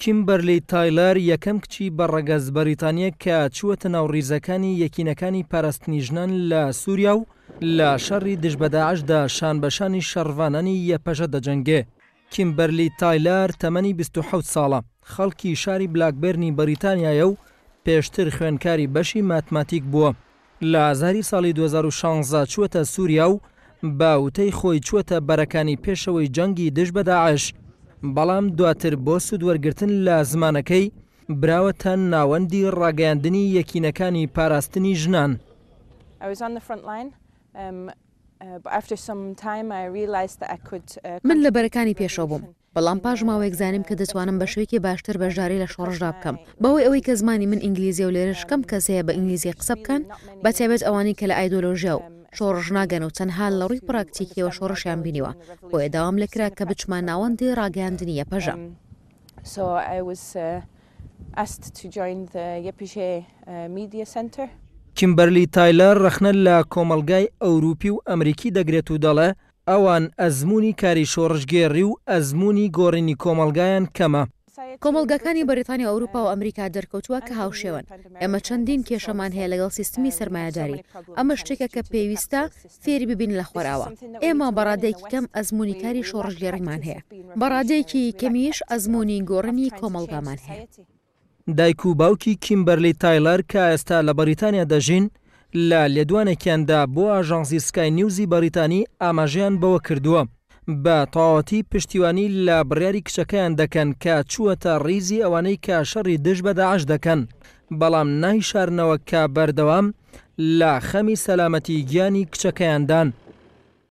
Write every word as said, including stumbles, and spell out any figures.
کیمبەرلی تایلەر یەکەم کچی بە ڕەگەز بەریتانییە کە چووەتە ناو ڕیزەکانی یەکینەکانی پاراستنی ژنان لە سووریا و لە شەڕی دژ بە داعشدا شان بە شانی شەڕڤانانی یەپەژە دەجەنگێ. کیمبەرلی تایلەر تەمەنی بیست و حەوت ساڵە، خەڵکی شاری بلاکبێرنی بەریتانیایە و پێشتر خوێندکاری بەشی ماتماتیک بووە. لە ئازاری ساڵی دوو هەزار و شانزە چووەتە سووریا و بە وتەی خۆی چووەتە بەرەکانی پێشەوەی جەنگی دژ بە داعش، بەڵام دواتر بۆ سوودوەرگرتن لە زمانەکەی براوەتە ناوەندی ڕاگەیاندنی یەکینەکانی پاراستنی ژنان. من لە بەرەکانی پێشەوە بووم، بەڵام پاش ماوەیەک زانیم کە دەتوانم بە شێوەیەکی باشتر بەشداری لە شۆڕشدا بکەم، بەهۆی ئەوەی کە زمانی من ئینگلیزییە و لێرەش کەم کەس هەیە بە ئینگلیزی قسە بکەن، بەتایبەت ئەوانەی کە لە ئایدۆلۆژیا و شۆڕش ناگەن و تەنها لە ڕووی پراکتیکییەوە شۆڕشیان بینیوە، بۆیە داوام لێکرا کە بچمە ناوەندی ڕاگەیاندنی یەپەژە. کیمبەرلی تایلەر ڕەخنە لە کۆمەڵگای ئەوروپی و ئەمریکی دەگرێت و دەڵێ ئەوان ئەزموونی کاری شۆڕشگێڕی و ئەزموونی گۆڕینی کۆمەڵگایان کەمە. کۆمەڵگاکانی بەریتانیا و ئەوروپا و ئەمریکا دەرکەوتووە کە هاوشێوەن. ئێمە چەندین کێشەمان هەیە لەگەڵ سیستمی سەرمایەداری. ئەمە شتێکە کە پێویستە فێری ببین لە خۆرئاوا. ئێمە بە ڕادەیەکی کەم ئەزموونی کاری شۆڕشگێڕیمان هەیە. بە ڕادەیەکی کەمیش ئەزموونی گۆڕینی کۆمەڵگامان هەیە. دایک و باوکی کیمبەرلی تایلەر کە ئێستا لە بەریتانیا دەژین، لە لێدوانێکیاندا بۆ ئاژانسی سکای نیوزی بەریتانی ئاماژەیان بەوە کردووە بە تەواوەتی پشتیوانی لە بڕیاری کچەکەیان دەکەن کە چووەتە ڕیزی ئەوانەی کە شەڕی دژ بە داعش دەکەن، بەڵام نایشارنەوە کە بەردەوام لە خەمی سەلامەتی گیانی کچەکەیاندان.